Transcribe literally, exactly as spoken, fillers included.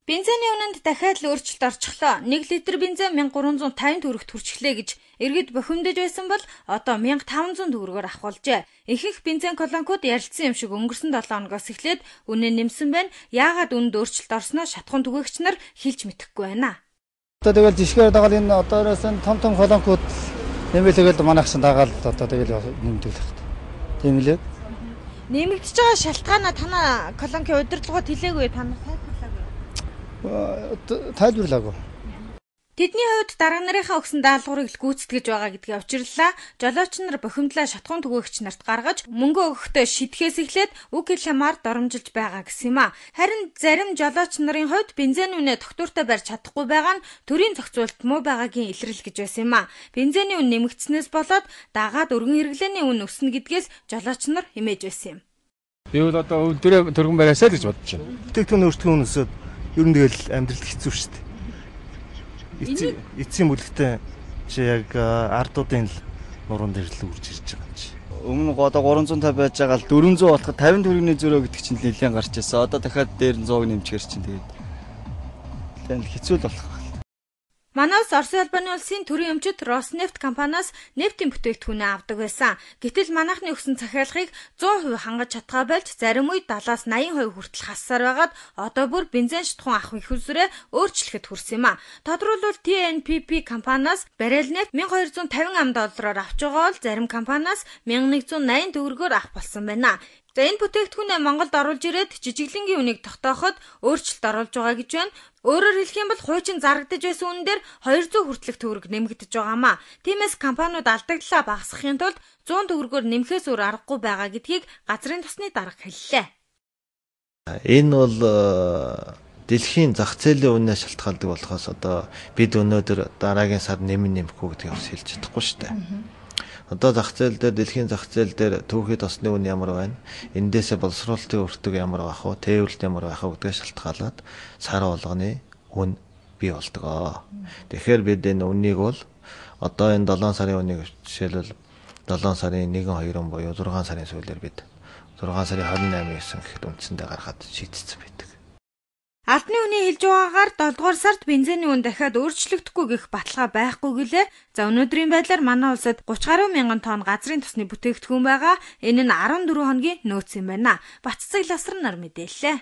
Бензиний үнэнд дахиад л өөрчлөлт орчихлоо. нэг литр бензин мянга гурван зуун тавин төгрөгт хүрчлээ гэж иргэд бохимдож байсан бол одоо мянга таван зуун төгрөгөөр авах болжээ. Ихэнх бензин колонкууд ярилцсан юм шиг өнгөрсөн долоо хоногоос эхлээд үнэ нэмсэн байна. Яагаад үнд өөрчлөлт орсноо шатхуун түгээгч нар хэлж мэдэхгүй байна. Одоо тэгэл жишгээр дагаад энэ одоороос нь том том колонкууд нэмэлтэйгэл манайхсан дагаад одоо тэгэл нэмдүүлэх. Тийм үлээ. Нэмэгдэж байгаа шалтгаанаа танаа колонкийн удирдлагууд хэлээгүй танаа тайлбарлаагүй. Тэдний хувьд дарга нарынхаа өгсөн даалгаврыг л гүйцэтгэж байгаа гэдгийг учирлаа. Жолооч нар бохимдлаа шатхуун түгээгч нарт гаргаж мөнгө өгөхдөө шитгэхээс эхлээд үг хэлмээр доромжилж байгаа гэсэн юм а. Харин зарим жолооч нарын хувьд бензин үнэ тогтвортой барьж чадахгүй байгаа нь төрийн зохицуулалт муу байгаагийн илрэл гэж байсан юм а. Бензиний үн нэмэгдснээс болоод дагаад өргөн хэрэглээний үн өснө гэдгээс жолооч нар хэмээж байсан юм. Би бол одоо өвдөрөө төргөн бариасаа л гэж бодож байна. Бүтээгдэхүүн өөрчлөлтийн үнэсэд ер нь тэгэл амьдралд хэцүү шүү дээ. Эцсийн эцсийн бүлэгтээ чи яг ардуудын л нуруунд ирэл үрж ирж байгаа юм чи. Өмнө одоо гурван зуун тавь байж байгаа л дөрвөн зуун болоход тавин төгрөгийн зөрөө гэдэг чинь нэлээд гарч ирсэн. Одоо дахиад дээр нь сто нэмчихэр чинь тэгээд тэгэл хэцүү л болох. Манай улс Оросын албаны улсын төрийн өмчит Роснефть компаниас нефтийн бүтээгдэхүүнээ авдаг байсан. Гэтэл манайхны өгсөн захиалгыг сто хувь хангаж чадхаа болж зарим үед дадлаас наян хувь хүртэл хассаар байгаад одоо бүр бензин шатхуун авах их үзрээ өөрчлөхөд хүрсэн юм а. Тодорхойлбол Ти Эн Пи Пи компаниас баррел нефть мянга хоёр зуун тавин ам доллараар авч байгаа бол зарим компаниас мянга нэг зуун найман төгрөгөөр авах болсон байна. За энэ бүтээгдэхүүнээ Монголд оруулж ирээд жижиглэнгийн үнийг тогтооход өөрчлөлт оруулж байгаа гэж байна. Өөрөөр хэлэх юм бол хуучин зарагдаж байсан үнэн дээр хоёр зуун хүртэлх төгрөг нэмэгдэж байгаамаа. Тиймээс компаниуд алдагдлаа багасгахын тулд сто төгрөгөөр нэмэхээс өөр аргагүй байгаа гэдгийг газрын тосны дарга хэллээ. Энэ бол дэлхийн зах зээлийн үнээс шалтгаалдаг болохоос одоо бид өнөөдөр дараагийн сар нэмэн нэмэхгүй гэдгийг бас хэлж чадахгүй шүү дээ. Одоо зах зээл дээр дэлхийн зах зээл дээр түүхийд осны үн ямар байна? Эндээсээ боловсруулалтын өртөг ямар байх вэ? Тээвэрлэлт ямар байх вэ гэдгээ шалтгаалаад сар болгоны үн бий болдог. Тэгэхээр бид энэ үннийг бол одоо энэ долоон сарын үнийг жишээлбэл долоон сарын нэг хоёр буюу зургаан сарын сүүлээр бид зургаан сарын хорин наймын гэсэн гэхэд үндсэндээ гаргаад шийдсэн байдаг. Албаны үний хэлж байгаагаар долоо дугаар сард бензиний үн дахиад өөрчлөгдөхгүй гэх баталгаа байхгүй гэлээ. За өнөөдрийн байдлаар манай улсад гуч гаруй мянган тонн газрын тосны бүтээгдэхүүн байгаа. Энэ нь арван дөрвөн хоногийн нөөц юм байна. Баццэг Ласран нар мэдээллээ.